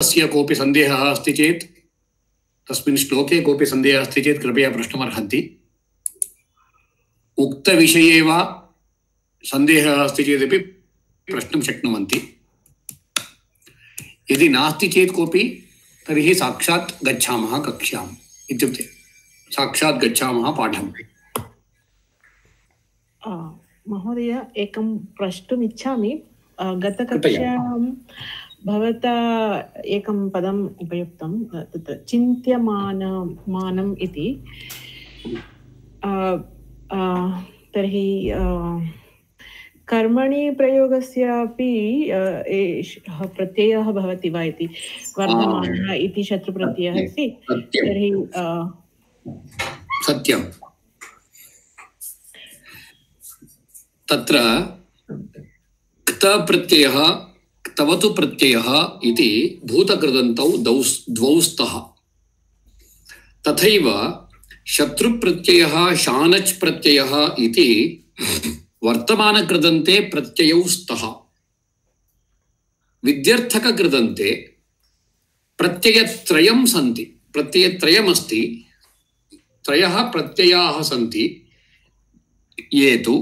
तस्य कोऽपि सन्देहः अस्ति चेत् तस्मिन् श्लोके कोऽपि सन्देहः अस्ति चेत् कृपया प्रष्टुमर्हन्ति। उक्तविषये वा सन्देहः अस्ति चेदपि प्रष्टुं शक्नुवन्ति। यदि नास्ति चेत् कोऽपि तर्हि साक्षात् गच्छामः कक्ष्याम्, इत्युक्ते साक्षात् गच्छामः पाठम्। महोदय, एकं प्रष्टुम् इच्छामि। गतकक्ष्यां भवता एकं पदम् उपयुक्तं, तत् चिन्त्यमानम् इति। तर्हि कर्मणि प्रयोगस्यापि प्रत्ययः भवति वा इति। वर्धमानः इति शत्रुप्रत्ययः अस्ति। तर्हि सत्यं। तत्र क्त प्रत्ययः क्तवतु प्रत्ययः इति भूतकृदन्तौ द्वौ स्तः। तथैव शत्रुप्रत्ययः शानच् प्रत्ययः इति वर्तमानकृदन्ते प्रत्ययौ स्तः। विद्यर्थककृदन्ते प्रत्ययत्रयं सन्ति, प्रत्ययत्रयमस्ति, त्रयः प्रत्ययाः सन्ति। ये तु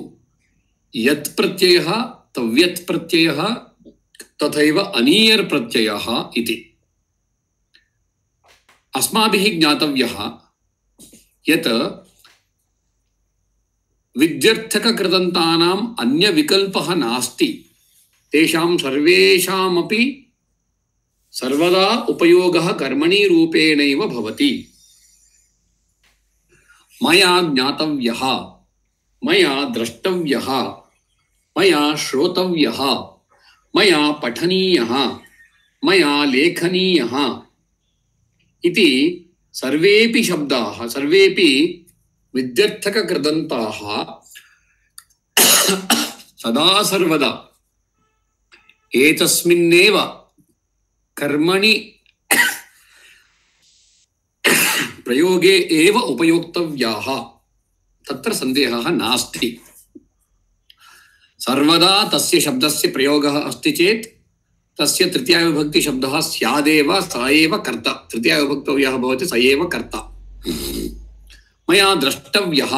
यत् प्रत्ययः, तव्यत् प्रत्ययः तथैव अनीयर् प्रत्ययः इति। अस्माभिः ज्ञातव्यः यत् विद्यर्थककृदन्तानाम् अन्यविकल्पः नास्ति। तेषां सर्वेषामपि सर्वदा उपयोगः कर्मणि रूपेणैव भवति। मया ज्ञातव्यः, मया द्रष्टव्यः, मया श्रोतव्यः, मया पठनीयः, मया लेखनीयः इति सर्वेपि शब्दाः, सर्वेपि विद्यर्थककृदन्ताः सदा सर्वदा एतस्मिन्नेव कर्मणि प्रयोगे एव उपयोक्तव्याः। तत्र सन्देहः नास्ति। सर्वदा तस्य शब्दस्य प्रयोगः अस्ति चेत् तस्य तृतीयाविभक्ति शब्दः स्यादेव, स एव कर्ता। तृतीयाविभक्तौ यः भवति स एव कर्ता। मया द्रष्टव्यः,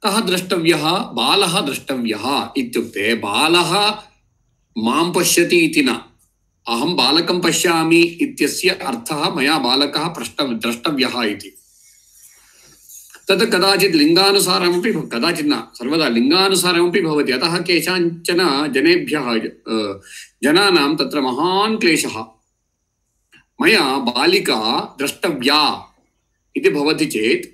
कः द्रष्टव्यः? बालः द्रष्टव्यः इत्युक्ते बालः मां पश्यति इति न, अहं बालकं पश्यामि इत्यस्य अर्थः मया बालकः द्रष्टव्यः इति। तद् कदाचित् लिङ्गानुसारमपि, कदाचित् न, सर्वदा लिङ्गानुसारमपि भवति। अतः केषाञ्चन जनेभ्यः जनानां तत्र महान् क्लेशः। मया बालिका द्रष्टव्या इति भवति चेत्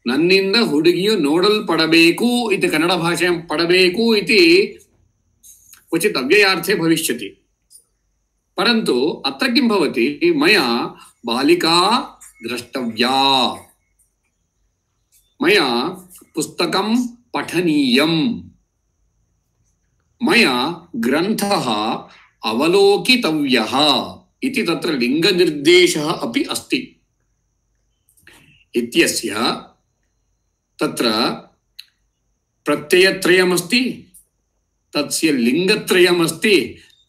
नन्निंद हुडुगियु नोडल्पडबेकु इति कन्नड भाषायां पडबेकु इति क्वचित् अव्ययार्थे भविष्यति। परन्तु अत्र किं भवति? मया बालिका द्रष्टव्या, मया पुस्तकं पठनीयं, मया ग्रन्थः अवलोकितव्यः इति तत्र लिङ्गनिर्देशः अपि अस्ति। इत्यस्य तत्र प्रत्ययत्रयमस्ति, तस्य लिङ्गत्रयमस्ति,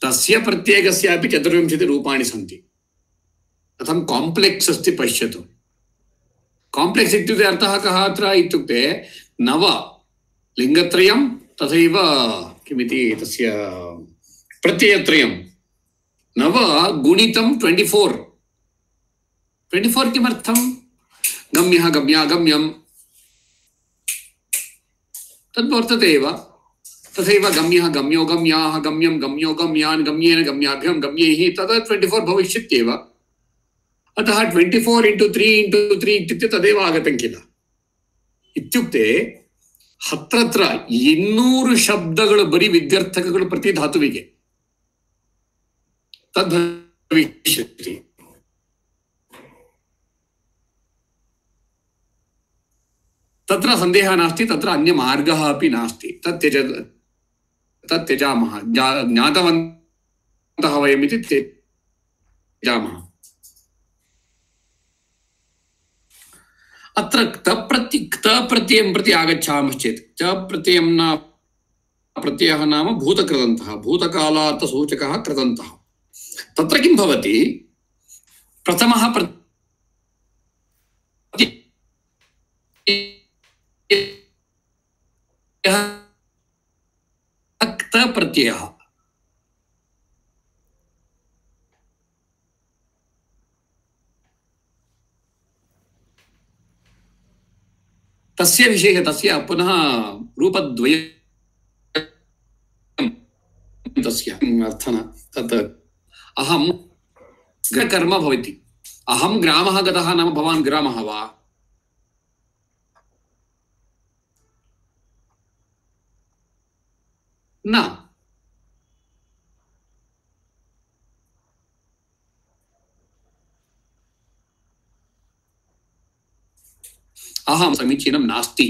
तस्य प्रत्येकस्यापि 24 रूपाणि सन्ति। कथं काम्प्लेक्स् अस्ति पश्यतु। काम्प्लेक्स् इत्युक्ते अर्थः कः अत्र इत्युक्ते नव लिङ्गत्रयं तथैव किमिति तस्य प्रत्ययत्रयं, नव गुणितं 24। 24 किमर्थं? गम्यः गम्या गम्यं तद्वर्तते एव। तथैव गम्यः गम्यो गम्याः गम्यं गम्यो गम्यान् गम्येन गम्याभ्यां गम्यैः, तदा 24 भविष्यत्येव। अतः 24 × 3 × 3 इत्युक्ते तदेव आगतं किल। इत्युक्ते हत्रत्र 200 शब्दಗಳು ಬರಿ ವಿದ್ಯಾರ್ಥಕಗಳು ಪ್ರತಿ ಧಾತುವಿಗೆ ತದ್ಭವಿಷ್ಯತಿ। तत्र सन्देहः नास्ति, तत्र अन्यमार्गः अपि नास्ति। तत् त्यजामः, ज्ञातवन्तः वयमिति त्यजामः। अत्र क्त प्रत्ययं प्रति आगच्छामश्चेत् च प्रत्ययं न प्रत्ययः नाम भूतकृदन्तः, भूतकालार्थसूचकः कृदन्तः। तत्र किं भवति? प्रथमः क्त प्रत्ययः तस्य विषयः तस्य पुनः रूपद्वयं तस्य अर्थः तत् अहं कर्म भवति अहं ग्रामः गतः नाम भवान् ग्रामः वा न अहं समीचीनं नास्ति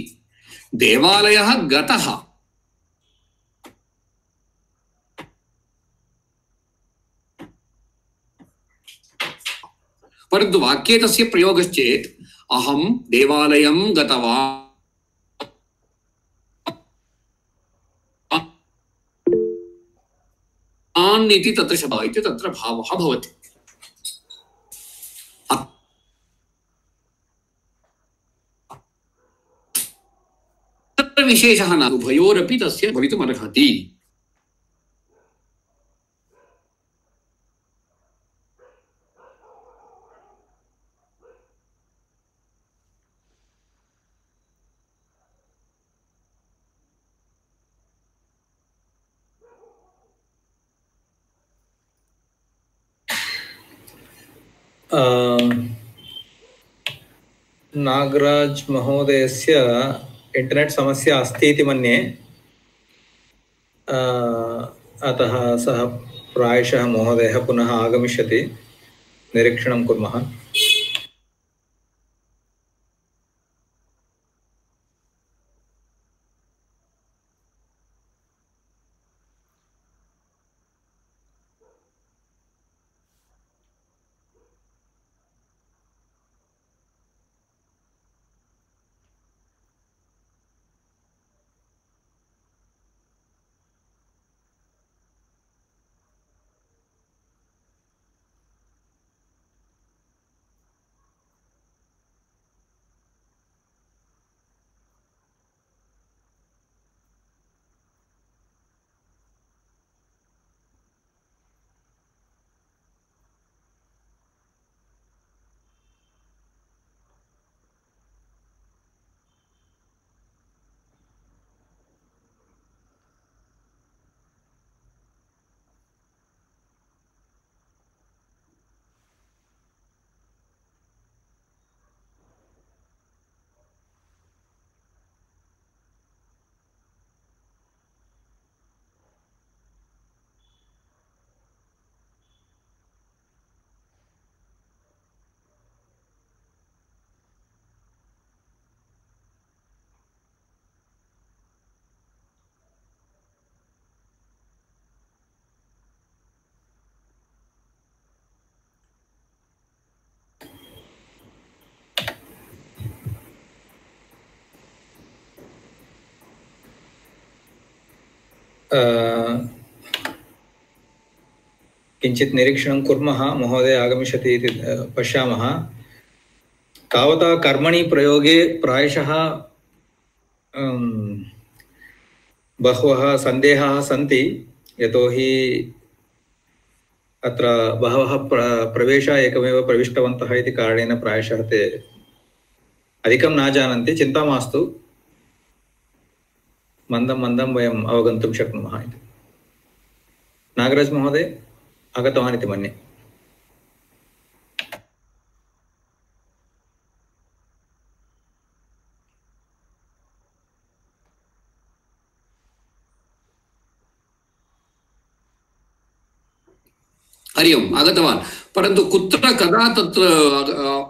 देवालयः गतः परन्तु वाक्ये तस्य प्रयोगश्चेत् अहं देवालयं गतवान् इति तत्र शब्दः इति तत्र भावः भवति तत्र विशेषः न उभयोरपि तस्य भवितुमर्हति नागराज महोदयस्य इंटरनेट समस्या अस्ति इति मन्ये अतः सः प्रायशः महोदयः पुनः आगमिष्यति निरीक्षणं कुर्मः किञ्चित् निरीक्षणं कुर्मः महोदय आगमिष्यति इति पश्यामः तावता कर्मणि प्रयोगे प्रायशः बहवः सन्देहाः सन्ति यतोहि अत्र बहवः प्रवेशाः एकमेव प्रविष्टवन्तः इति कारणेन प्रायशः ते अधिकं न जानन्ति चिन्ता मास्तु मन्दं मन्दं वयम् अवगन्तुं शक्नुमः इति नागराज महोदय आगतवान् इति मन्ये हरि ओम् आगतवान् परन्तु कुत्र कदा तत्र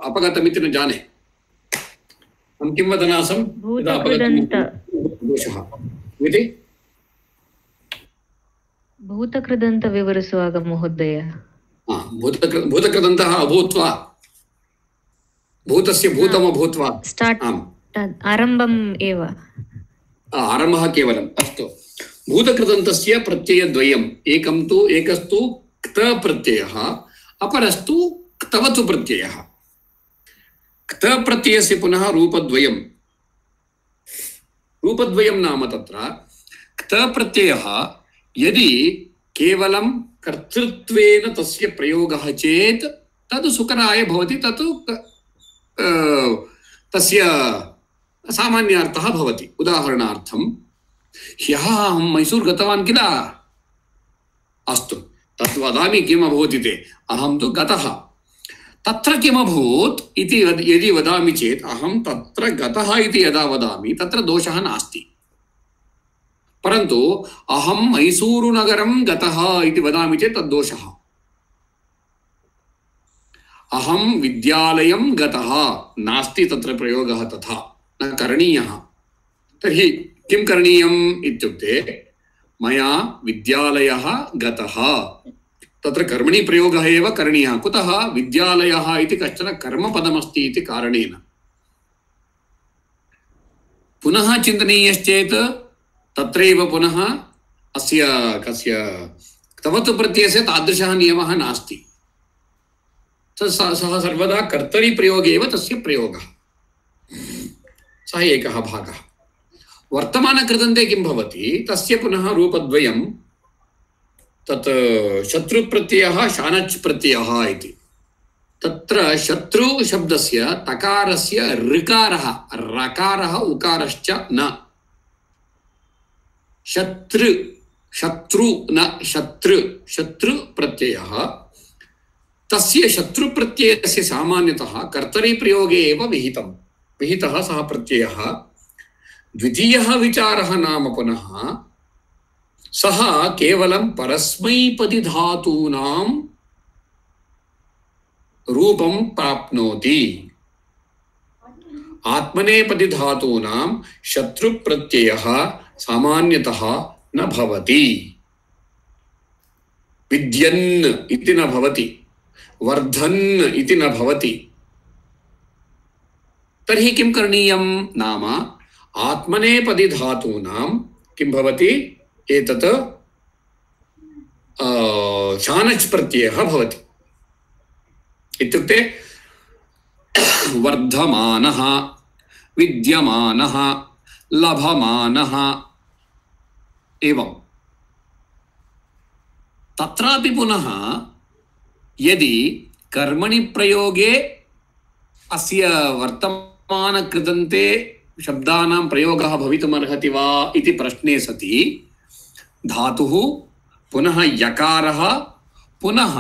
अपगतमिति न जाने अहं किं वदन् आसम् भूतकृदन्त विवरसुवाग महोदय भूतकृदन्तः अभूत्वा भूतस्य भूतम् अभूत्वा आरम्भम् एव आरम्भः केवलम् अस्तु भूतकृदन्तस्य प्रत्ययद्वयम् एकस्तु क्त प्रत्ययः अपरस्तु क्त क्तवतु प्रत्ययः क्त प्रत्ययस्य पुनः रूपद्वयं नाम तत्र क्त प्रत्ययः यदि केवलं कर्तृत्वेन तस्य प्रयोगः चेत् तद् सुकराय भवति तत् तस्य सामान्यार्थः भवति उदाहरणार्थं ह्यः अहं मैसूर गतवान् किल अस्तु तत् वदामि किम् अभवत् इति अहं तु गतः तत्र किमभूत् इति यदि वदामि चेत् अहं तत्र गतः इति यदा वदामि तत्र दोषः नास्ति परन्तु अहं मैसूरुनगरं गतः इति वदामि चेत् तद् दोषः अहं विद्यालयं गतः नास्ति तत्र प्रयोगः तथा न करणीयः तर्हि किं करणीयम् इत्युक्ते मया विद्यालयः गतः तत्र कर्मणि प्रयोगः एव करणीयः कुतः विद्यालयः इति कश्चन कर्मपदमस्ति इति कारणेन पुनः चिन्तनीयश्चेत् तत्रैव पुनः अस्य कस्य क्तवतु प्रत्ययस्य तादृशः नियमः नास्ति सः सर्वदा कर्तरि प्रयोगे एव तस्य प्रयोगः सः एकः भागः वर्तमानकृदन्ते किं भवति तस्य पुनः रूपद्वयं तत् शत्रुप्रत्ययः शानच् प्रत्ययः इति तत्र शत्रु शब्दस्य तकारस्य ऋकारः रकारः उकारश्च न शत्रु न शत्रु प्रत्ययः तस्य शत्रु प्रत्ययस्य सामान्यतः कर्तरि प्रयोगे एव विहितः सः प्रत्ययः द्वितीयः विचारः नाम पुनः सः केवलं परस्मैपदी धातूनां रूपं प्राप्नोति आत्मनेपदी धातूनां शत्रु प्रत्ययः सामान्यतः न भवति विद्यन् इति न भवति वर्धन् इति न भवति तर्हि किं करणीयं नाम आत्मनेपदी धातूनां किं भवति एतत् शानच् प्रत्ययः भवति इत्युक्ते वर्धमानः विद्यमानः लभमानः एवं तत्रापि पुनः यदि कर्मणि प्रयोगे अस्य वर्तमानकृदन्ते शब्दानां प्रयोगः भवितुमर्हति वा इति प्रश्ने सति धातुः पुनः यकारः पुनः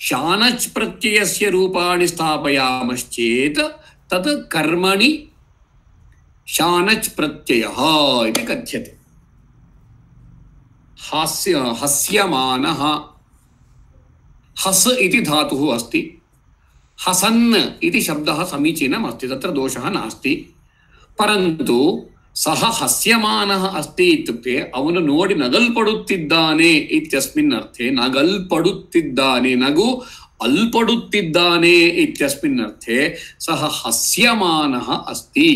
शानच् प्रत्ययस्य रूपाणि स्थापयामश्चेत् तत् कर्मणि शानच् प्रत्ययः इति कथ्यते हस्यमानः हस् इति धातुः अस्ति हसन् इति शब्दः समीचीनम् अस्ति तत्र दोषः नास्ति परन्तु सः हस्यमानः अस्ति इत्युक्ते ಅವನು ನೋಡಿ ನಗಲ್ಪಡುತ್ತಿದ್ದಾನೆ इत्यस्मिन् अर्थे नगल्पಡುತ್ತಿದ್ದಾನೆ नगु अल्पಡುತ್ತಿದ್ದಾನೆ इत्यस्मिन् अर्थे सः हस्यमानः अस्ति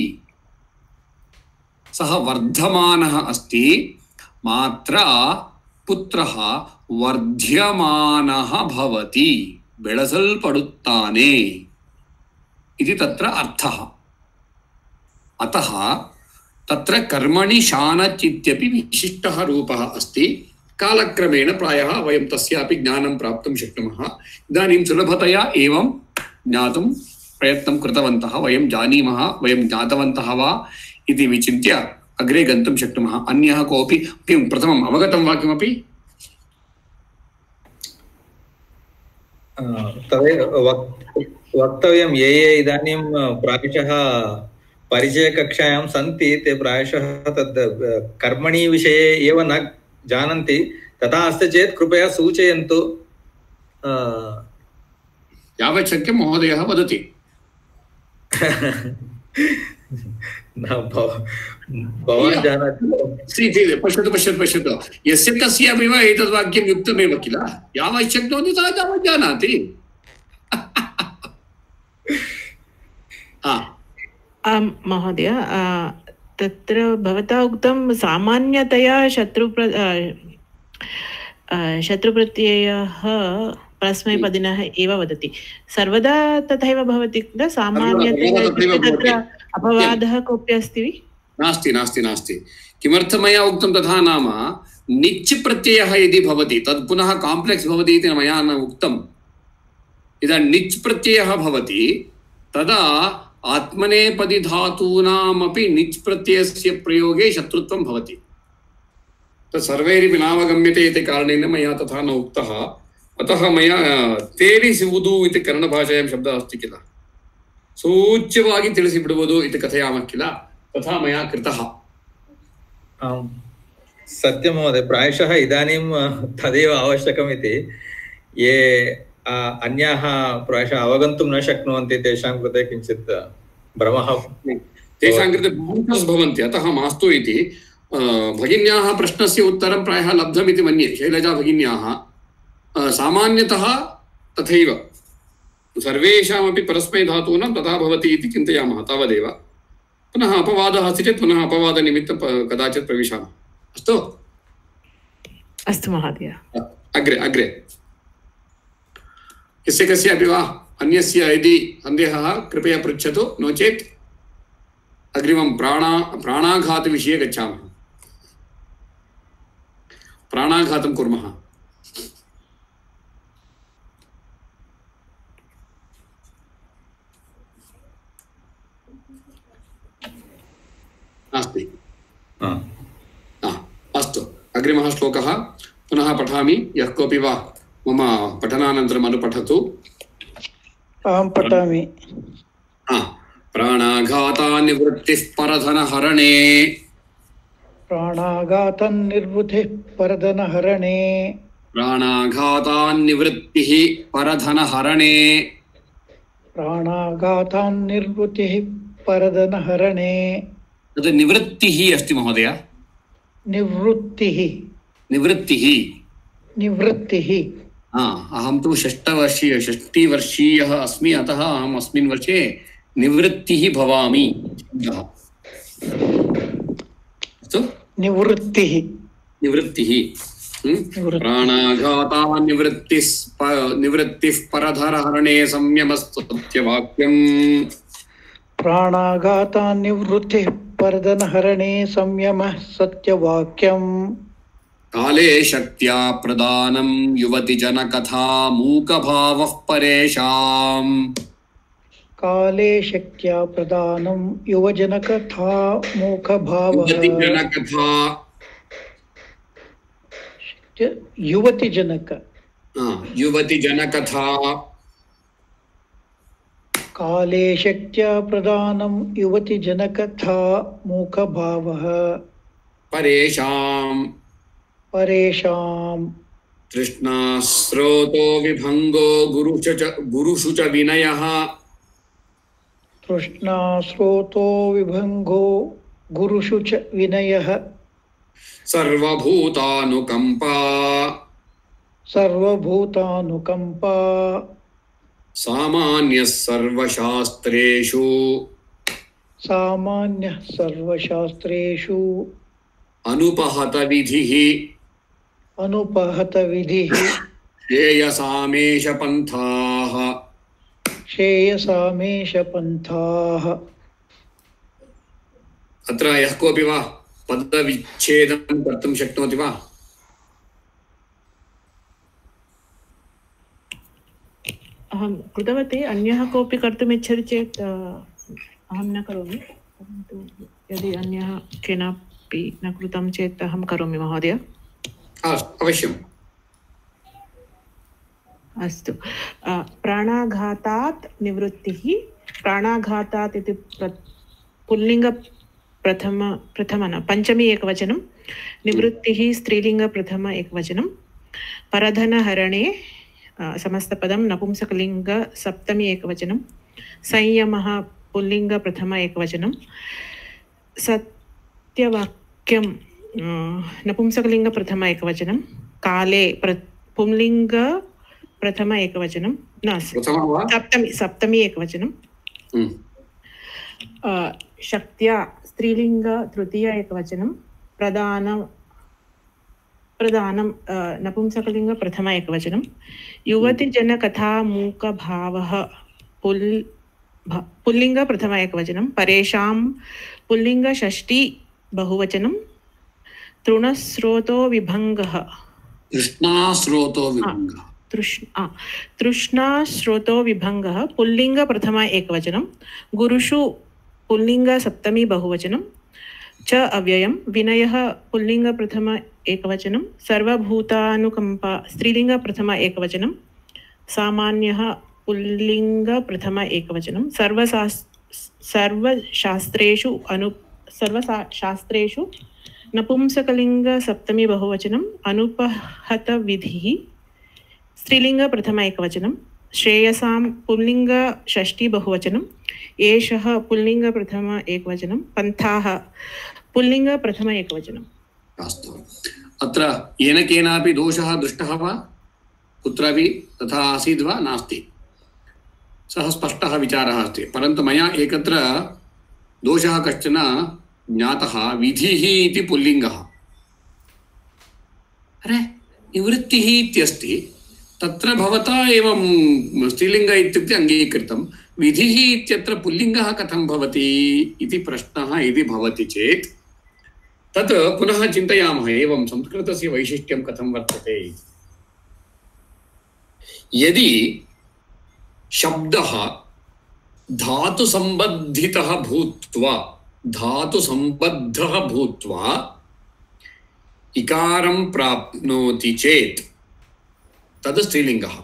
सः वर्धमानः अस्ति मात्र पुत्रः वर्ध्यमानः भवति बेळसल्पಡುತ್ತಾನೆ इति तत्र अर्थः अतः तत्र कर्मणि शानच् इत्यपि विशिष्टः रूपः अस्ति कालक्रमेण प्रायः वयं तस्यापि ज्ञानं प्राप्तुं शक्नुमः इदानीं सुलभतया एवं ज्ञातुं प्रयत्नं कृतवन्तः वयं जानीमः वयं ज्ञातवन्तः वा इति विचिन्त्य अग्रे गन्तुं शक्नुमः अन्यः कोऽपि किं प्रथमम् अवगतं वा किमपि तदेव वक्तव्यं ये इदानीं प्रायशः परिचयकक्षायां सन्ति ते प्रायशः तद् कर्मणि विषये एव न जानन्ति तथा अस्ति चेत् कृपया सूचयन्तु यावत् शक्यं महोदयः वदति भवान् जानाति पश्यतु यस्य कस्यापि वा एतद् वाक्यं युक्तमेव किल यावत् शक्नोति सः तावत् जानाति महोदय तत्र भवता उक्तं सामान्यतया शत्रुप्रत्ययः परस्मैपदिनः एव वदति सर्वदा तथैव भवति किल सामान्यतया तत्र अपवादः कोऽपि अस्ति नास्ति नास्ति नास्ति किमर्थं मया उक्तं तथा नाम निच् प्रत्ययः यदि भवति तद् पुनः काम्प्लेक्स् भवति इति मया न उक्तम् इदानीं निच् प्रत्ययः भवति तदा आत्मनेपदी धातूनामपि निच् प्रत्ययस्य प्रयोगे शत्रुत्वं भवति तत् सर्वैरपि नावगम्यते इति कारणेन मया तथा न उक्तः अतः मया तेरिसुवुदु इति कन्नडभाषायां शब्दः अस्ति किल सूच्यವಾಗಿ ತಿಳಿಸಿಬಿಡುವುದು इति कथयामः किल तथा मया कृतः सत्यं महोदय प्रायशः इदानीं तदेव आवश्यकम् इति ये अन्याः प्रायशः अवगन्तुं न शक्नुवन्ति तेषां कृते किञ्चित् भ्रमः तेषां कृते भवन्ति अतः मास्तु इति भगिन्याः प्रश्नस्य उत्तरं प्रायः लब्धमिति मन्ये शैलजा भगिन्याः सामान्यतः तथैव सर्वेषामपि परस्मैधातूनां तथा भवति इति चिन्तयामः तावदेव पुनः अपवादः अस्ति चेत् पुनः अपवादनिमित्तं कदाचित् प्रविशामः अस्तु अस्तु महोदय अग्रे अग्रे यस्य कस्यापि वा अन्यस्य यदि सन्देहः कृपया पृच्छतु नो चेत् अग्रिमं प्राणाघातविषये गच्छामः प्राणाघातं कुर्मः नास्ति अस्तु अग्रिमः श्लोकः पुनः पठामि यः कोऽपि वा मम पठनानन्तरम् अनुपठतु अहं पठामि प्राणाघातान्निवृत्तिः परधनहरणे प्राणाघातन्निवृत्तिः परधनहरणे प्राणाघातान्निवृत्तिः परधनहरणे प्राणाघातान्निवृत्तिः परधनहरणे तद् निवृत्तिः अस्ति महोदय निवृत्तिः निवृत्तिः निवृत्तिः अहं तु षष्टिवर्षीयः अस्मि अतः अहम् अस्मिन् वर्षे निवृत्तिः भवामि अस्तु निवृत्तिः निवृत्तिः प्राणाघातान्निवृत्तिः परधनहरणे संयमस्तुत्यवाक्यम् प्राणाघातान्निवृत्तिः परधनहरणे संयमः सत्यवाक्यम् काले शक्त्या प्रदानं युवतिजनकथा मूकभावः परेषाम् काले शक्त्या प्रदानं युवजनकथा मूकभावः युवतिजनकथा काले शक्त्या प्रदानं युवतिजनकथा मूकभावः परेषाम् तृष्णास्रोतो विभङ्गो गुरुषु च विनयः तृष्णास्रोतो विभङ्गो गुरुषु च विनयः सर्वभूतानुकम्पा सामान्यः सर्वशास्त्रेषु अनुपहतविधिः श्रेयसामेष पन्थाः अत्र यः कोऽपि वा पदविच्छेदं कर्तुं शक्नोति वा अहं कृतवती अन्यः कोऽपि कर्तुम् इच्छति चेत् अहं न करोमि परन्तु यदि अन्यः केनापि न कृतं चेत् अहं करोमि महोदय अवश्यम् अस्तु प्राणाघातात् निवृत्तिः प्राणाघातात् इति पुल्लिङ्ग प्रथम न पञ्चमी एकवचनं निवृत्तिः स्त्रीलिङ्ग प्रथम एकवचनं परधनहरणे समस्तपदं नपुंसकलिङ्ग सप्तमी एकवचनं संयमः पुल्लिङ्ग प्रथम एकवचनं सत्यवाक्यं नपुंसकलिङ्ग प्रथम एकवचनं काले पुल्लिङ्ग प्रथम एकवचनं न सप्तमी एकवचनं शक्त्या स्त्रीलिङ्ग तृतीय एकवचनं प्रधानं नपुंसकलिङ्ग प्रथम एकवचनं युवतिजनकथा मूकभावः पुल्लिङ्ग प्रथम एकवचनं परेषां पुल्लिङ्ग षष्ठी बहुवचनं तृणस्रोतो विभङ्गः तृष्णास्रोतो विभङ्गः पुल्लिङ्ग प्रथम एकवचनं गुरुषु पुल्लिङ्ग सप्तमी बहुवचनं च अव्ययं विनयः पुल्लिङ्ग प्रथम एकवचनं सर्वभूतानुकम्पा स्त्रीलिङ्ग प्रथम एकवचनं सामान्यः पुल्लिङ्ग प्रथम एकवचनं सर्वशास्त्रेषु नपुंसकलिङ्ग सप्तमी बहुवचनं अनुपहत विधिः स्त्रीलिङ्ग प्रथम एकवचनं श्रेयसां पुल्लिङ्ग षष्ठी बहुवचनं एषः पुल्लिङ्ग प्रथम एकवचनं पन्थाः पुल्लिङ्ग प्रथम एकवचनम्। अस्तु, अत्र येन केनापि दोषः दृष्टः वा कुत्रापि तथा आसीत् वा नास्ति, सः स्पष्टः विचारः अस्ति, परन्तु मया एकत्र दोषः कश्चन ज्ञातः विधिः इति पुल्लिङ्गः। अरे निवृत्तिः इत्यस्ति, तत्र भवता एवं स्त्रीलिङ्ग इत्युक्ते अङ्गीकृतं, विधिः इत्यत्र पुल्लिङ्गः कथं भवति इति प्रश्नः यदि भवति चेत् तत् पुनः चिन्तयामः एवं संस्कृतस्य वैशिष्ट्यं कथं वर्तते। यदि शब्दः धातुसम्बद्धितः भूत्वा इकारं प्राप्नोति चेत् तद् स्त्रीलिङ्गः।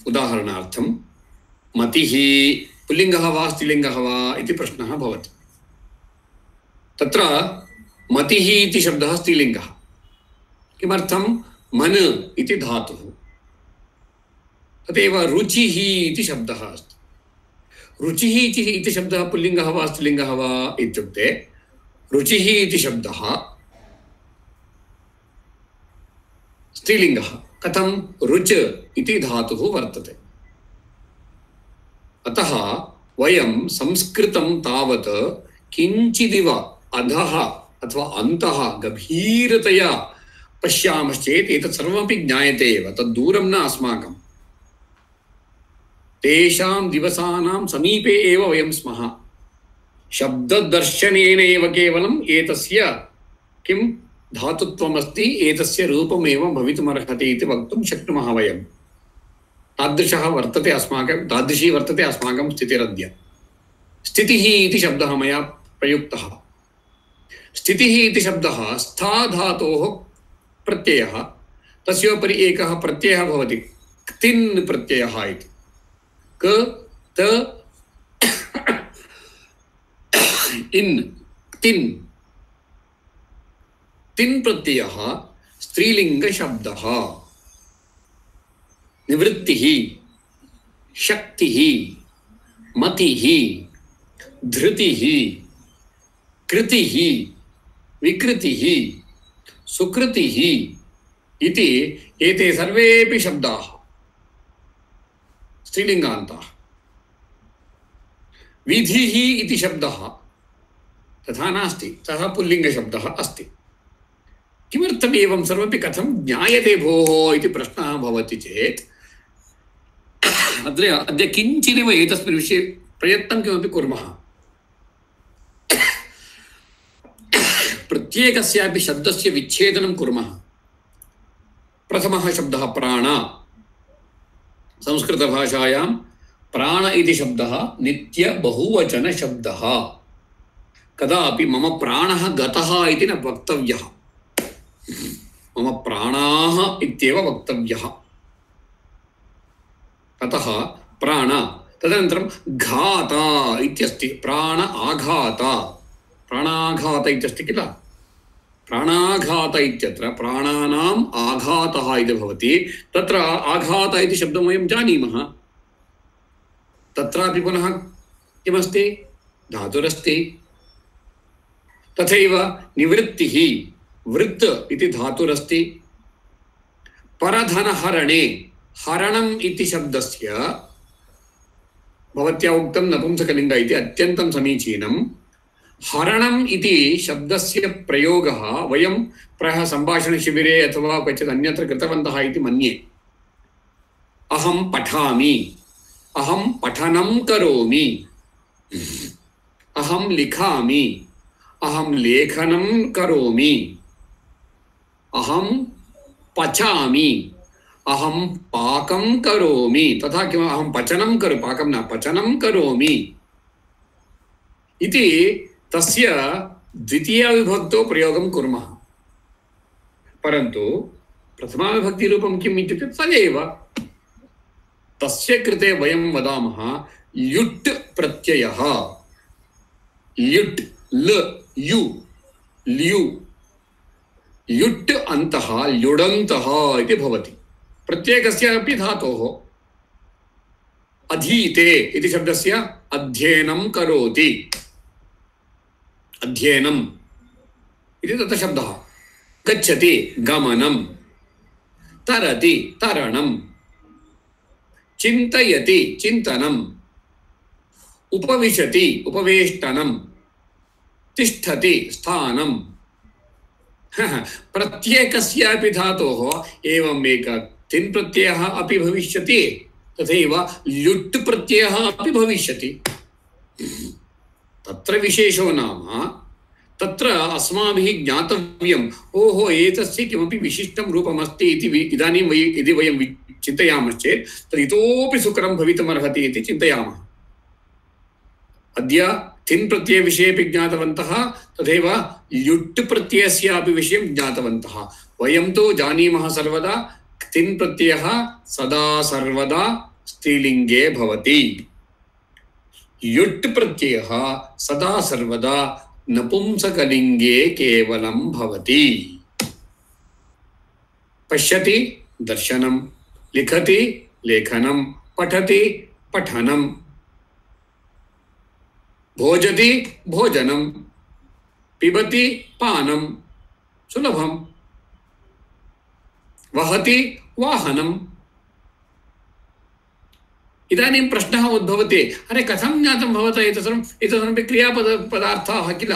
उदाहरणार्थं मतिः पुल्लिङ्गः वा स्त्रीलिङ्गः वा इति प्रश्नः भवति। तत्र मतिः इति शब्दः स्त्रीलिङ्गः। किमर्थं? मन इति धातुः। तदेव रुचिः इति शब्दः अस्ति। रुचिः इति शब्दः पुल्लिङ्गः वा स्त्रीलिङ्गः वा इत्युक्ते रुचिः इति शब्दः स्त्रीलिङ्गः। कथं? रुच इति धातुः वर्तते। अतः वयं संस्कृतं तावत् किञ्चिदिव अधः अथवा अन्तः गभीरतया पश्यामश्चेत् एतत् सर्वमपि ज्ञायते एव, तद्दूरं न अस्माकं। तेषां दिवसानां समीपे एव वयं स्मः। शब्ददर्शनेन एव केवलम् एतस्य किं धातुत्वमस्ति, एतस्य रूपमेव भवितुमर्हति इति वक्तुं शक्नुमः वयं। तादृशी वर्तते अस्माकं स्थितिरद्य। स्थितिः इति शब्दः मया प्रयुक्तः। स्थितिः इति शब्दः स्था धातोः प्रत्ययः, तस्योपरि एकः प्रत्ययः भवति, क्तिन् प्रत्ययः इति। क त इन् क्तिन्। तिन् प्रत्ययः स्त्रीलिङ्गशब्दः। निवृत्तिः, शक्तिः, मतिः, धृतिः, कृतिः, विकृतिः, सुकृतिः इति एते सर्वेपि शब्दाः स्त्रीलिङ्गान्ताः। विधिः इति शब्दः तथा नास्ति, सः पुल्लिङ्गशब्दः अस्ति। किमर्थम् एवं सर्वमपि कथं ज्ञायते भोः इति प्रश्नः भवति चेत् अद्य किञ्चिदेव एतस्मिन् विषये प्रयत्नं किमपि कुर्मः। प्रत्येकस्यापि शब्दस्य विच्छेदनं कुर्मः। प्रथमः शब्दः प्राण। संस्कृतभाषायां प्राण इति शब्दः नित्यबहुवचनशब्दः। कदापि मम प्राणः गतः इति न वक्तव्यः, मम प्राणाः इत्येव वक्तव्यः। अतः प्राण। तदनन्तरं घात इत्यस्ति, प्राण आघात, प्राणाघात इत्यस्ति किल। प्राणाघात इत्यत्र प्राणानाम् आघातः इति भवति। तत्र आघात इति शब्दं वयं जानीमः। तत्रापि पुनः किमस्ति? धातुरस्ति। तथैव निवृत्तिः, वृत्त इति धातुरस्ति। परधनहरणे, हरणम् इति शब्दस्य भवत्या उक्तं नपुंसकलिङ्ग इति अत्यन्तं समीचीनं। हरणम् इति शब्दस्य प्रयोगः वयं प्रायः सम्भाषणशिबिरे अथवा क्वचित् अन्यत्र कृतवन्तः इति मन्ये। अहं पठामि, अहं पठनं करोमि, अहं लिखामि, अहं लेखनं करोमि, अहं पचामि, अहं पाकं करोमि, तथा किम् अहं पचनं करोमि, पाकं न पचनं करोमि इति तस्य द्वितीयाविभक्तौ प्रयोगं कुर्मः। परन्तु प्रथमाविभक्तिरूपं किम् इत्युक्ते तदेव। तस्य कृते वयं वदामः ल्युट् प्रत्ययः। ल्युट् ल यु ल्यु ल्युट् अन्तः ल्युडन्तः इति भवति। प्रत्येकस्यापि धातोः अधीते इति शब्दस्य अध्ययनं करोति, अध्ययनम् इति तत्र शब्दः। गच्छति गमनं, तरति तरणं, चिन्तयति चिन्तनम्, उपविशति उपवेष्टनं, तिष्ठति स्थानं। प्रत्येकस्यापि धातोः एवम् एक तिन् प्रत्ययः अपि भविष्यति, तथैव ल्युट् प्रत्ययः अपि भविष्यति। तत्र विशेषो नाम तत्र अस्माभिः ज्ञातव्यम्, ओहो एतस्य किमपि विशिष्टं रूपमस्ति इति इदानीं यदि वयं चिन्तयामश्चेत् तद् इतोपि सुकरं भवितुमर्हति इति चिन्तयामः। अद्य तिन् प्रत्ययविषयेपि ज्ञातवन्तः, तथैव ल्युट् प्रत्ययस्यापि विषयं ज्ञातवन्तः। वयं तु जानीमः सर्वदा तिन् प्रत्ययः सदा सर्वदा स्त्रीलिङ्गे भवति, ल्युट् प्रत्ययः सदा सर्वदा नपुंसकलिङ्गे केवलं भवति। पश्यति दर्शनं, लिखति लेखनं, पठति पठनं, भोजति भोजनं, पिबति पानं, सुलभं, वहति वाहनम्। इदानीं प्रश्नः उद्भवति, अरे कथं ज्ञातं भवता एतत्सर्वमपि क्रियापदार्थाः किल।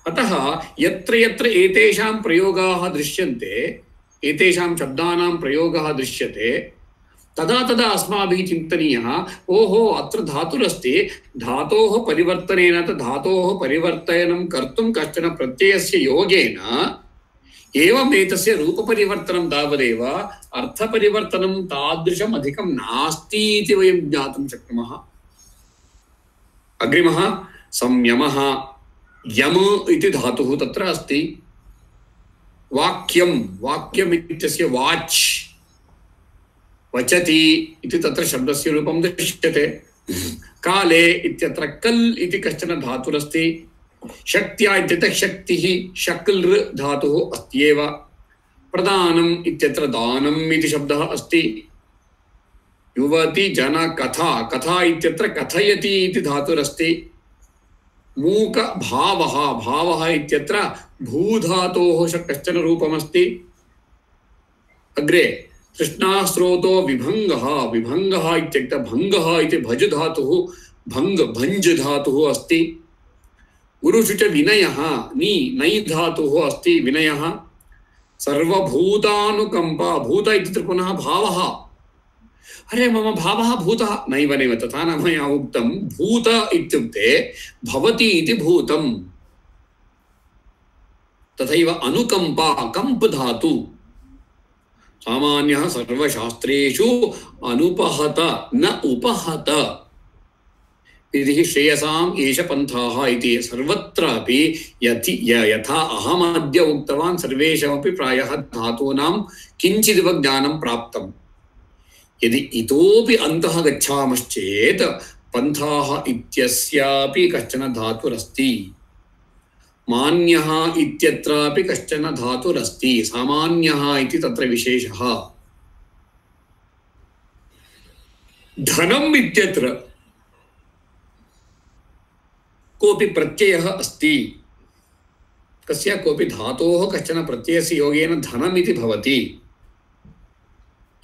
अतः यत्र यत्र एतेषां प्रयोगाः दृश्यन्ते, एतेषां शब्दानां प्रयोगः दृश्यते, तदा तदा अस्माभिः चिन्तनीयः, ओहो अत्र धातुरस्ति, धातोः परिवर्तनेन धातोः परिवर्तनं कर्तुं कश्चन प्रत्ययस्य योगेन एवम् एतस्य रूपपरिवर्तनं तावदेव, अर्थपरिवर्तनं तादृशम् अधिकं नास्ति इति वयं ज्ञातुं शक्नुमः। अग्रिमः संयमः। यम इति धातुः तत्र अस्ति। वाक्यं, वाक्यम् इत्यस्य वाच्, वचति इति तत्र शब्दस्य रूपं दृश्यते। काले इत्यत्र कल् इति कश्चन धातुरस्ति। शक्त्या इत्यत्र शक्तिः, शक्लृ धातुः अस्त्येव। प्रदानम् इत्यत्र दानम् इति शब्दः अस्ति। युवति जन कथा, कथा इत्यत्र कथयति इति धातुरस्ति। मूक भावः, भावः इत्यत्र भूधातोः कश्चन रूपमस्ति। अग्रे तृष्णास्रोतो विभङ्गः, विभङ्गः इत्युक्ते भङ्गः इति भज धातुः, भङ्ग भञ्ज धातुः अस्ति। गुरुषु च विनयः, नी नै धातुः अस्ति विनयः। सर्वभूतानुकम्पा, भूत इत्यत्र पुनः भावः। अरे मम भावः भूतः, नैव नैव तथा न मया उक्तं। भूत इत्युक्ते भवति इति भूतम्। तथैव अनुकम्पा, कम्प धातु। सामान्यः सर्वशास्त्रेषु अनुपहत न उपहत। विधिः श्रेयसाम् एष पन्थाः इति सर्वत्रापि यथा अहमद्य उक्तवान् सर्वेषामपि प्रायः धातूनां किञ्चिदिव ज्ञानं प्राप्तम्। यदि इतोपि अन्तः गच्छामश्चेत् पन्थाः इत्यस्यापि कश्चन धातुरस्ति। मान्यः इत्यत्रापि कश्चन धातुरस्ति। सामान्यः इति तत्र विशेषः। धनम् इत्यत्र कोऽपि प्रत्ययः अस्ति। कस्य कोऽपि धातोः कश्चन प्रत्ययस्य योगेन धनम् इति भवति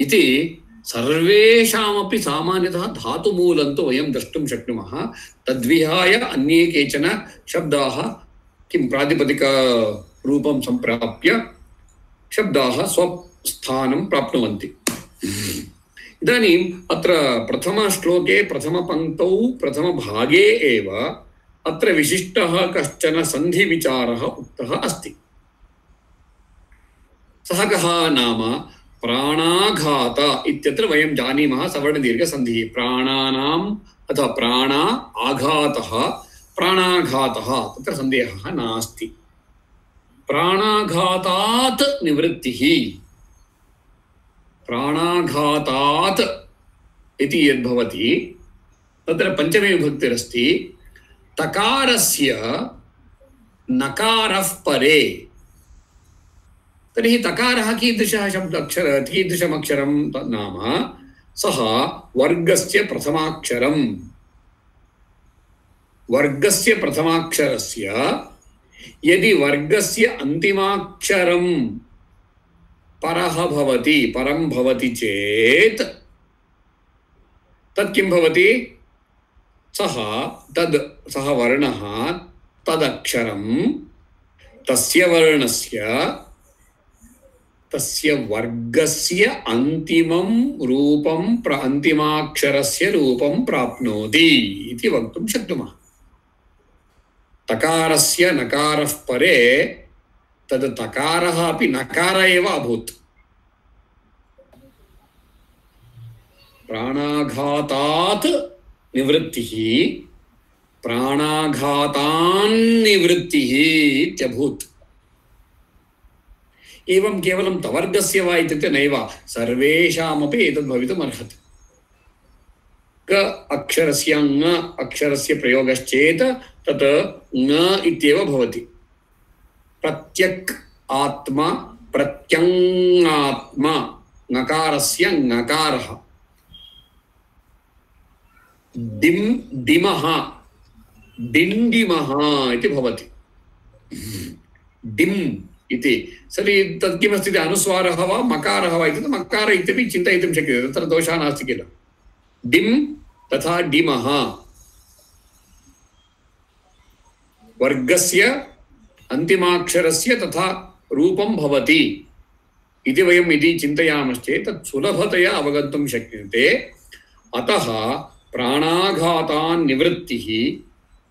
इति सर्वेषामपि सामान्यतः धातुमूलं तु वयं द्रष्टुं शक्नुमः। तद्विहाय अन्ये केचन शब्दाः किं प्रातिपदिकरूपं सम्प्राप्य शब्दाः स्वस्थानं प्राप्नुवन्ति। इदानीम् अत्र प्रथमश्लोके प्रथमपङ्क्तौ प्रथमभागे एव अत्र विशिष्टः कश्चन सन्धिविचारः उक्तः अस्ति। सः कः नाम प्राणाघात इत्यत्र वयं जानीमः सवर्णदीर्घसन्धिः। प्राणानाम् अथवा प्राण आघातः प्राणाघातः तत्र सन्देहः नास्ति। प्राणाघातात् निवृत्तिः, प्राणाघातात् इति यद्भवति तत्र पञ्चमी विभक्तिरस्ति। तकारस्य नकारः परे, तर्हि तकारः कीदृशः कीदृशमक्षरं नाम सः वर्गस्य प्रथमाक्षरम्। वर्गस्य प्रथमाक्षरस्य यदि वर्गस्य अन्तिमाक्षरं परः भवति, परं भवति चेत् तत् किं भवति? सः वर्णः तदक्षरं तस्य वर्णस्य तस्य वर्गस्य अन्तिमं रूपं अन्तिमाक्षरस्य रूपं प्राप्नोति इति वक्तुं शक्नुमः। तकारस्य नकारः परे तद् तकारः अपि नकार एव अभूत्। प्राणाघातात् निवृत्तिः प्राणाघातान्निवृत्तिः इत्यभूत्। एवं केवलं तवर्गस्य वा इत्युक्ते नैव, सर्वेषामपि एतद् भवितुम् अर्हति। क अक्षरस्य ङ अक्षरस्य प्रयोगश्चेत् तत् ङ इत्येव भवति। प्रत्यक् आत्मा प्रत्यङ्गात्मा ङकारस्य ङकारः। डिम् डिमः डिण्डिमः इति भवति। डिम् इति सरि तत् किमस्ति? अनुस्वारः वा मकारः वा इति मकार इत्यपि चिन्तयितुं शक्यते, तत्र दोषः नास्ति किल। डिम् तथा डिमः वर्गस्य अन्तिमाक्षरस्य तथा रूपं भवति इति वयं यदि चिन्तयामश्चेत् तत् सुलभतया अवगन्तुं शक्यते। अतः प्राणाघातान् निवृत्तिः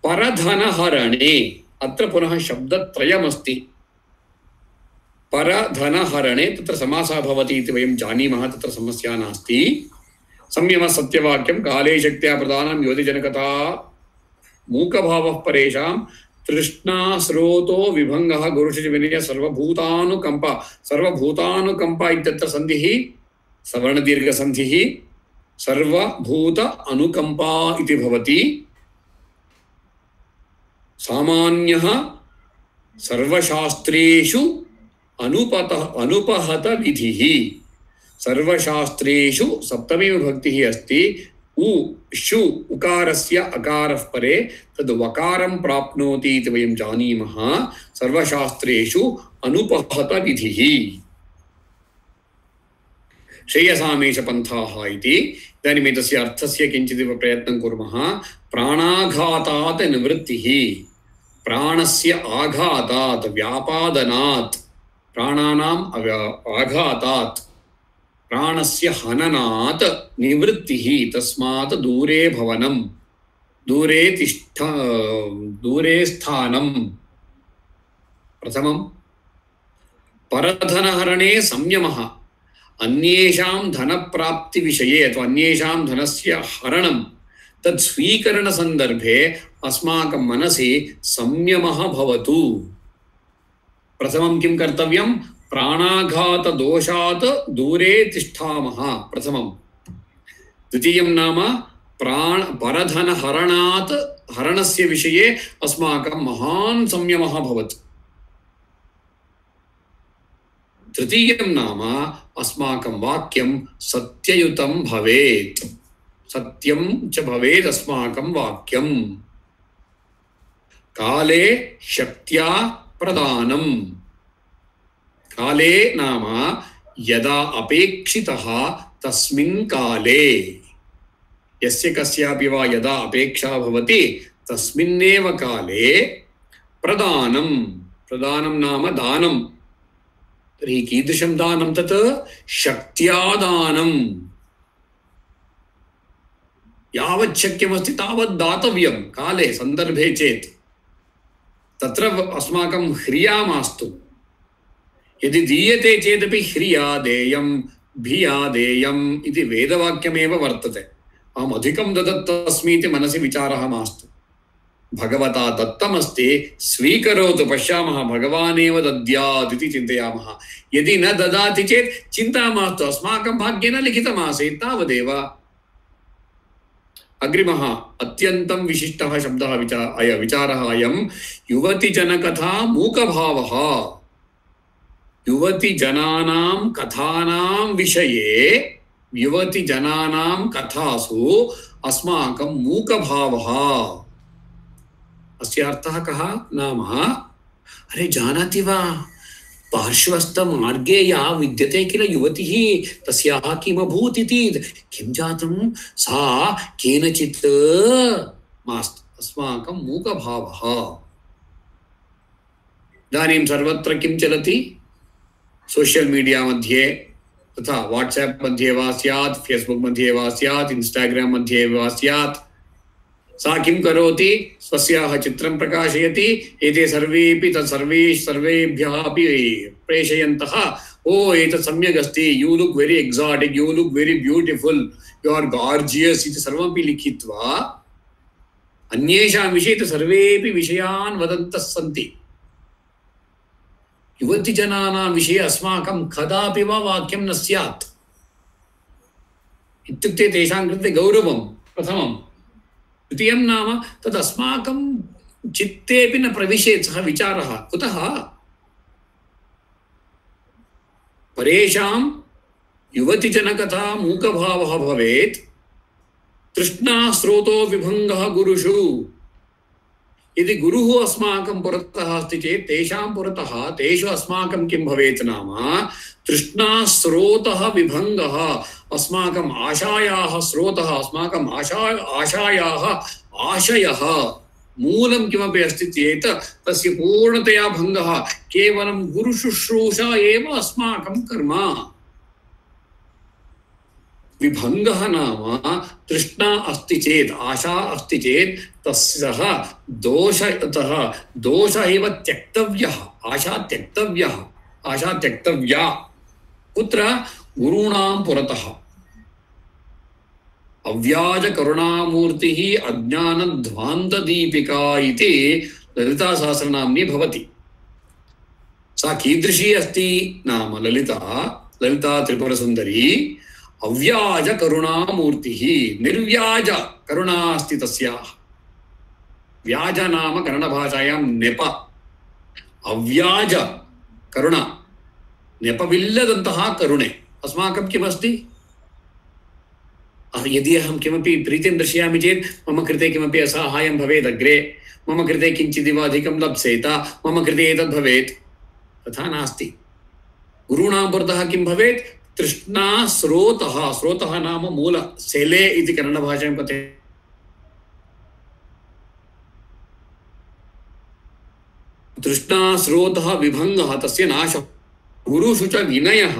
परधनहरणे, अत्र पुनः शब्दत्रयमस्ति। परधनहरणे तत्र समासः भवति इति वयं जानीमः, तत्र समस्या नास्ति। संयमः सत्यवाक्यं काले शक्त्या प्रदानं योतिजनकता मूकभावः परेषां तृष्णा स्रोतो विभङ्गः गुरुषिविनय सर्वभूतानुकम्पा। सर्वभूतानुकम्पा इत्यत्र सन्धिः सवर्णदीर्घसन्धिः सर्वभूत अनुकम्पा इति भवति। सामान्यः सर्वशास्त्रेषु अनुपहत विधिः। सर्वशास्त्रेषु सप्तमी विभक्तिः अस्ति। उ शु उकारस्य अकारः परे तद् वकारं प्राप्नोति इति वयं जानीमः। सर्वशास्त्रेषु अनुपहत विधिः श्रेयसामेष पन्थाः इति। इदानीम् एतस्य अर्थस्य किञ्चिदिव प्रयत्नं कुर्मः। प्राणाघातात् निवृत्तिः, प्राणस्य आघातात् व्यापादनात्, प्राणानाम् आघातात् प्राणस्य हननात् निवृत्तिः, तस्मात् दूरे भवनं, दूरे स्थानं। प्रथमं परधनहरणे संयमः, अन्येषां धनप्राप्तिविषये अथवा अन्येषां धनस्य हरणं तत् स्वीकरणसन्दर्भे अस्माकं मनसि संयमः भवतु। प्रथमं किं कर्तव्यं? प्राणाघातदोषात् दूरे तिष्ठामः प्रथमं। द्वितीयं नाम परधनहरणात् हरणस्य विषये अस्माकं महान् संयमः भवतु। तृतीयं नाम अस्माकं वाक्यं सत्ययुतं भवेत्, सत्यं च भवेत् अस्माकं वाक्यं। काले शक्त्या प्रदानम्, काले नाम यदा अपेक्षितः तस्मिन् काले यस्य कस्यापि वा यदा अपेक्षा भवति तस्मिन्नेव काले प्रदानं नाम दानं। तर्हि कीदृशं दानं तत्? शक्त्या दानं। यावत् शक्यमस्ति तावत् दातव्यं काले सन्दर्भे चेत्। तत्र अस्माकं ह्रिया मास्तु। यदि दीयते चेदपि ह्रिया देयं भिया देयम् इति वेदवाक्यमेव वर्तते। अहम् अधिकं ददत्तस्मीति मनसि विचारः मास्तु। भगवता दत्तमस्ति, स्वीकरोतु, पश्यामः भगवानेव दद्यात् इति चिन्तयामः। यदि न ददाति चेत् चिन्ता मास्तु, अस्माकं भाग्येन लिखितमासीत्, तावदेव। अग्रिमः अत्यन्तं विशिष्टः शब्दः विचारः अयं युवतिजनकथा मूकभावः। युवतिजनानां कथानां विषये, युवतिजनानां कथासु अस्माकं मूकभावः। अस्य अर्थः कः? नाम अरे जानाति वा, पार्श्वस्थमार्गे या विद्यते किल युवतिः, तस्याः किमभूत् इति। किं जातं? सा केनचित् मास्तु। अस्माकं मूकभावः। इदानीं सर्वत्र किं चलति? सोशल मीडिया मध्ये तथा व्हाट्सएप मध्ये वा स्यात्, फेसबुक मध्ये वा स्यात्, इंस्टाग्राम मध्ये वा स्यात्, सा किं करोति? स्वस्याः चित्रं प्रकाशयति। एते सर्वेपि सर्वेभ्यः अपि प्रेषयन्तः, ओ एतत् सम्यक् अस्ति, you look very exotic, you look very beautiful, you are gorgeous इति सर्वमपि लिखित्वा अन्येषां विषये सर्वेपि विषयान् वदन्तः सन्ति। युवतिजनानां विषये अस्माकं कदापि वा वाक्यं न स्यात्। इत्युक्ते तेषां कृते गौरवं प्रथमं। द्वितीयं नाम तद् अस्माकं चित्तेपि न प्रविशेत् सः विचारः। कुतः? परेषां युवतिजनकथा मूकभावः भवेत्। तृष्णा स्रोतो विभङ्गः गुरुषु। यदि गुरुः अस्माकं पुरतः अस्ति चेत् तेषां पुरतः तेषु अस्माकं किं भवेत् नाम तृष्णा स्रोतः विभङ्गः। अस्माकम् आशायाः स्रोतः, अस्माकम् आशायाः आशयः मूलं किमपि अस्ति चेत् तस्य पूर्णतया भङ्गः। केवलं गुरुशुश्रूषा एव अस्माकं कर्म। विभङ्गः नाम तृष्णा अस्ति चेत्, आशा अस्ति चेत् तस्यः दोष एव त्यक्तव्यः। आशा त्यक्तव्यः, आशा त्यक्तव्या। कुत्र? गुरूणां पुरतः। अव्याज करुणामूर्तिः अज्ञानध्वान्तदीपिका इति ललितासहस्रनाम्नी भवति। सा कीदृशी अस्ति नाम ललिता त्रिपुरसुन्दरी अव्याज करुणामूर्तिः। निर्व्याज करुणा अस्ति तस्याः। व्याज नाम कन्नडभाषायां नेप, अव्याज करुणा, नेपविल्लदन्तः करुणे। अस्माकं किमस्ति? यदि अहं किमपि प्रीतिं दर्शयामि चेत् मम कृते किमपि असहायं भवेत् अग्रे, मम कृते किञ्चिदिव अधिकं लप्स्येत, मम कृते एतद् भवेत्। तथा नास्ति। गुरूणां पुरतः किं भवेत्? तृष्णा स्रोतः। स्रोतः नाम मूल, सेले इति कन्नडभाषायां कथ्यते। तृष्णा स्रोतः विभङ्गः, तस्य नाशः। गुरुषु च विनयः,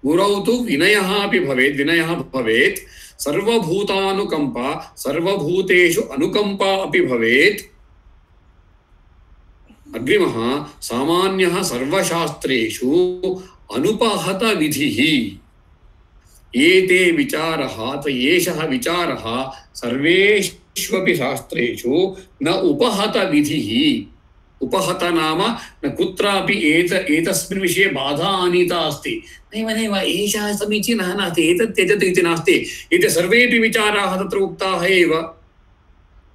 गुरौ तु विनयः अपि भवेत्। विनयः भवेत्। सर्वभूतानुकम्पा, सर्वभूतेषु अनुकम्पा अपि भवेत्। अग्रिमः सामान्यः सर्वशास्त्रेषु अनुपहत विधिः। एते विचारः एषः विचारः सर्वेष्वपि शास्त्रेषु न उपहत विधिः। उपहत नाम न कुत्रापि एतस्मिन् विषये बाधा आनीता अस्ति। नैव एषः समीचीनः नास्ति, एतत् त्यजतु इति नास्ति। एते सर्वेपि विचाराः तत्र उक्ताः एव।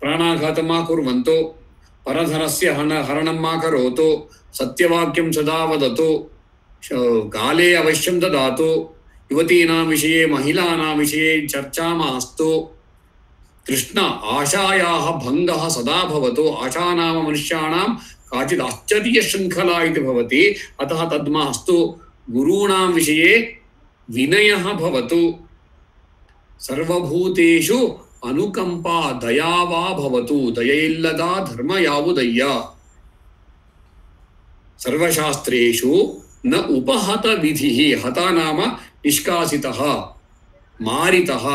प्राणाघातं मा कुर्वन्तु, परधनस्य हरणं मा करोतु, सत्यवाक्यं सदा वदतु, काले अवश्यं ददातु, युवतीनां विषये महिलानां विषये चर्चा मास्तु, तृष्णा आशायाः भङ्गः सदा भवतु। आशा नाम मनुष्याणां काचित् आश्चर्यशृङ्खला इति भवति, अतः तद् मास्तु। गुरूणां विषये विनयः भवतु। सर्वभूतेषु अनुकंपा दया वा भवतु दयैल्लदा धर्म यावुदय्य सर्वशास्त्रेषु न उपहत विधिः हत नाम निष्कासितः मारितः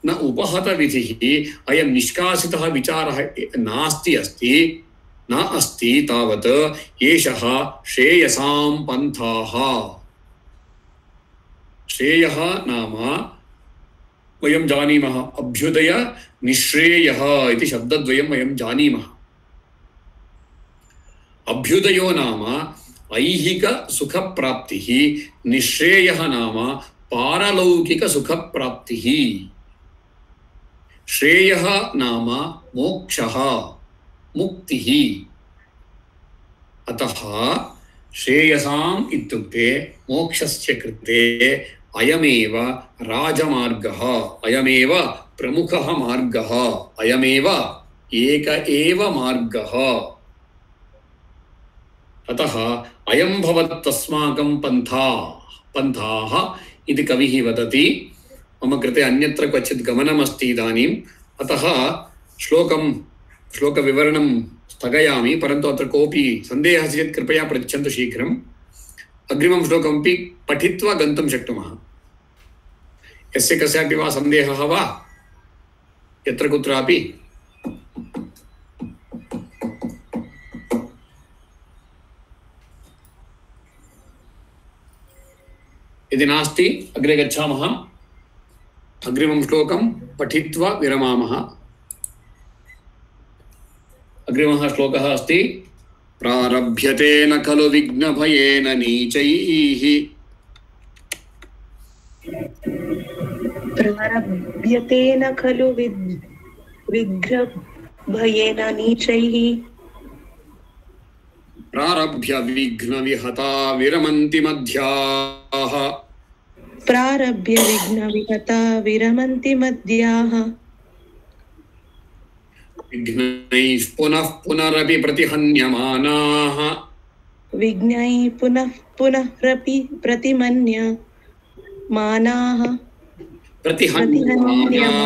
न उपहत विधिः अयं निष्कासितः विचारः नास्ति अस्ति न अस्ति तावत् एषः श्रेयसां पन्थाः श्रेयः नाम वयं जानीमः अभ्युदय निश्रेयः इति शब्दद्वयं वयं जानीमः अभ्युदयो नाम ऐहिक सुखप्राप्तिः निश्रेयः नाम पारलौकिक सुखप्राप्तिः श्रेयः नाम मोक्षः मुक्तिः अतः श्रेयसाम् इत्युक्ते मोक्षस्य कृते अयमेव राजमार्गः अयमेव प्रमुखः मार्गः अयमेव एक एव मार्गः अतः अयं भवत्तस्माकं पन्थाः इति कविः वदति मम कृते अन्यत्र क्वचित् गमनमस्ति इदानीम् अतः श्लोकविवरणं स्थगयामि परन्तु अत्र कोऽपि सन्देहः अस्ति चेत् कृपया पृच्छन्तु शीघ्रम् अग्रिमं श्लोकमपि पठित्वा गन्तुं शक्नुमः यस्य कस्यापि वा सन्देहः वा यत्र कुत्रापि यदि नास्ति अग्रे गच्छामः अग्रिमं श्लोकं पठित्वा विरमामः अग्रिमः श्लोकः अस्ति प्रारभ्यते न खलु विघ्नभयेन नीचैः प्रारभ्यते न खलु विघ्नभयेन नीचैः प्रारभ्य विघ्नविहता विरमन्ति मध्याः प्रारभ्य विघ्नविहता विरमन्ति मध्याः विघ्नैः पुनः पुनरपि प्रतिहन्यमानाः विघ्नैः पुनः पुनरपि प्रतिहन्यमानाः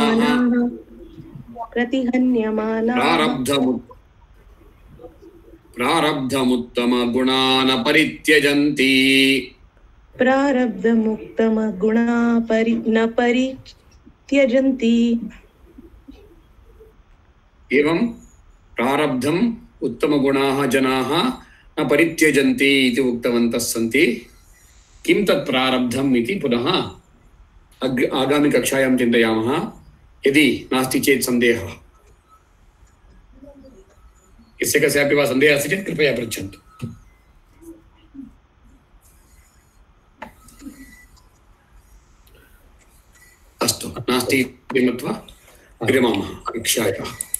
प्रारब्धमुत्तमगुणान् परित्यजन्ति प्रारब्धमुत्तमगुणा न परित्यजन्ति एवं प्रारब्धम् उत्तमगुणाः जनाः न परित्यजन्ति इति उक्तवन्तः सन्ति किं तत् प्रारब्धम् इति पुनः आगामि कक्षायां चिन्तयामः यदि नास्ति चेत् सन्देहः यस्य कस्यापि वा सन्देहः अस्ति चेत् कृपया पृच्छन्तु अस्तु नास्ति इति मत्वा विरमामः कक्षायाः